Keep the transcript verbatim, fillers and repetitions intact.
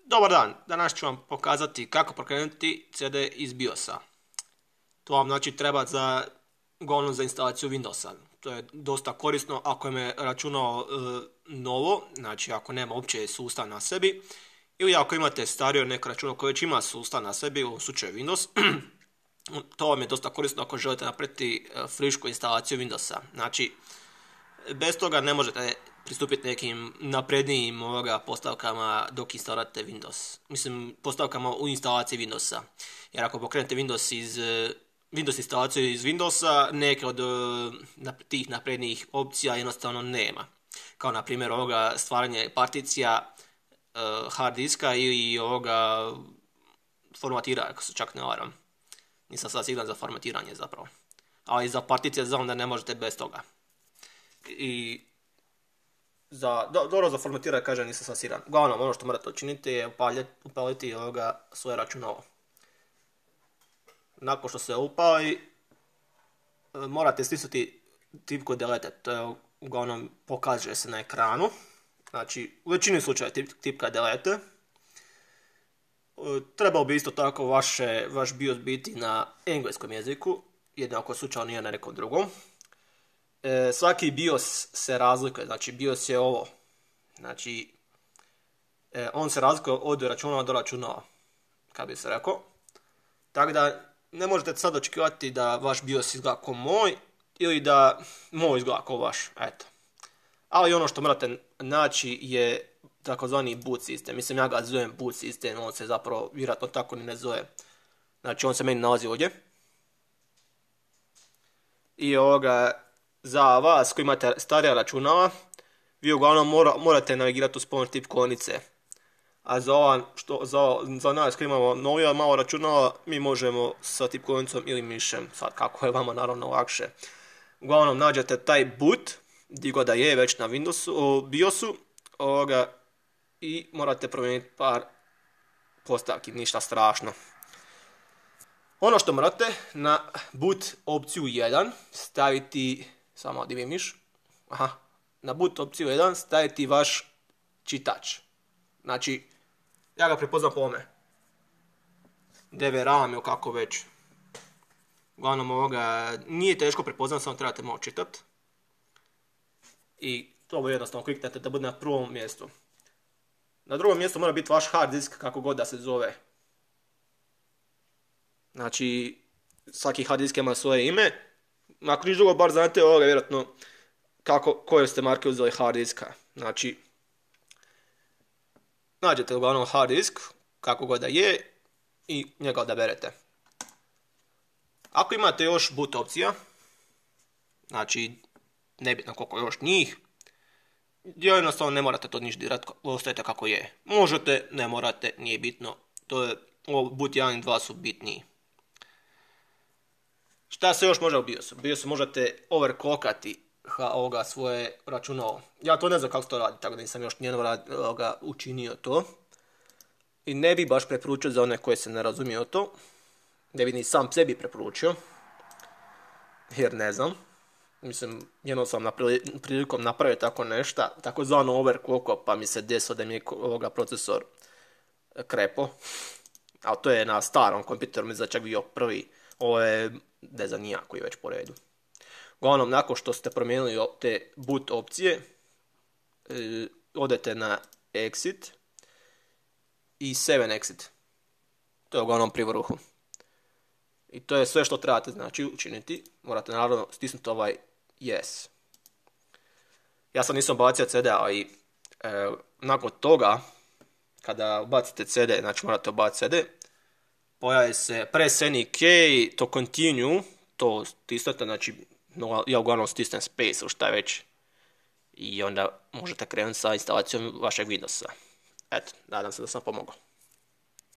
Dobar dan, danas ću vam pokazati kako pokrenuti C D iz BIOS-a. To vam znači treba za, uglavnom za instalaciju Windowsa. To je dosta korisno ako je računalo e, novo, znači ako nema uopće sustav na sebi, ili ako imate starije neko računalo koje već ima sustav na sebi, u slučaju Windows, to vam je dosta korisno ako želite napraviti frišku instalaciju Windowsa. Znači, bez toga ne možete pristupiti nekim naprednijim ovoga postavkama dok instalirate Windows. Mislim, postavkama u instalaciji Windowsa. Jer ako pokrenete Windows iz Windows instalaciju iz Windowsa, neke od tih naprednijih opcija jednostavno nema. Kao na primjer ovoga stvaranje particija hard diska ili ovoga formatiranja, ako se čak ne varam. Nisam sad siguran za formatiranje zapravo. Ali za particije znam da ne možete bez toga. I za, do, dobro za formatiranje kažem nisam sad siguran. Uglavnom ono što morate učiniti je upaliti, upaliti ovoga svoje računalo. Nakon što se upali, morate stisnuti tipku delete, to je uglavnom pokaže se na ekranu. Znači, u većini slučaja tip, tipka delete. Trebao bi isto tako vaše, vaš BIOS biti na engleskom jeziku, jednako slučajno nije na nekom drugom. E, svaki BIOS se razlikuje, znači BIOS je ovo. Znači, e, on se razlikuje od računala do računala, kako bi se rekao. Tako da, ne možete sad očekivati da vaš BIOS izgleda kao moj, ili da moj izgleda kao vaš, eto. Ali ono što morate naći je takozvani boot sistem. Mislim, ja ga zovem boot sistem, on se zapravo vjerojatno tako ni ne zove. Znači, on se meni nalazi ovdje. I ovoga, za vas koji imate starija računala, vi uglavnom mora, morate navigirati uz pomoć tipkovnice. A za, ova, što, za, za nas koji imamo novija malo računala, mi možemo sa tipkovnicom ili mišem, sad kako je vama naravno lakše. Uglavnom nađete taj boot, gdje god da je već na Windowsu, BIOSu, ovoga, i morate promijeniti par postavki, ništa strašno. Ono što morate, na boot opciju jedan staviti, samo di mi miš, aha, na boot opciju jedan staviti vaš čitač. Znači, ja ga prepoznam po ovome. D V RAM ili kako već. Uglavnom ovoga, nije teško prepoznam, samo trebate malo čitati. I to jednostavno kliknete da bude na prvom mjestu. Na drugom mjestu mora biti vaš hard disk, kako god da se zove. Znači, svaki hard disk ima svoje ime. Ako niš drugo, bar znate ovoga vjerojatno kako, koje ste marke uzeli hard diska. Znači, nađete uglavnom hard disk, kako god da je, i njega odaberete. Ako imate još boot opcija, znači, nebitno koliko još njih, jednostavno ne morate to niš dirati, ostavite kako je. Možete, ne morate, nije bitno. To je, ovo boot jedan i dva su bitniji. Šta se još može u BIOSu? U BIOSu možete overclockati ovoga svoje računalo. Ja to ne znam kako se to radi, tako da nisam još nijedno učinio to. I ne bi baš preporučio za one koje se ne razumiju o to. Ne bi ni sam sebi preporučio. Jer ne znam. Mislim, jednom sam prilikom napravio tako nešto, takozvano overclocko, pa mi se desilo da mi je ovoga procesor krepo. Ali to je na starom kompjuteru, mislim da čak bio prvi. Ovo je, ne znam, nijak koji je već po redu. Uglavnom, nakon što ste promijenili te boot opcije, e, odete na exit i sedam exit. To je uglavnom pri vrhu. I to je sve što trebate znači učiniti. Morate naravno stisnuti ovaj yes. Ja sam nisam bacio C D, ali e, nakon toga, kada ubacite C D, znači morate ubaciti C D, pojavi se press any key to continue, to stisnete, znači ja uglavnom stisnem space ili šta već. I onda možete krenuti sa instalacijom vašeg Windowsa. Eto, nadam se da sam pomogao.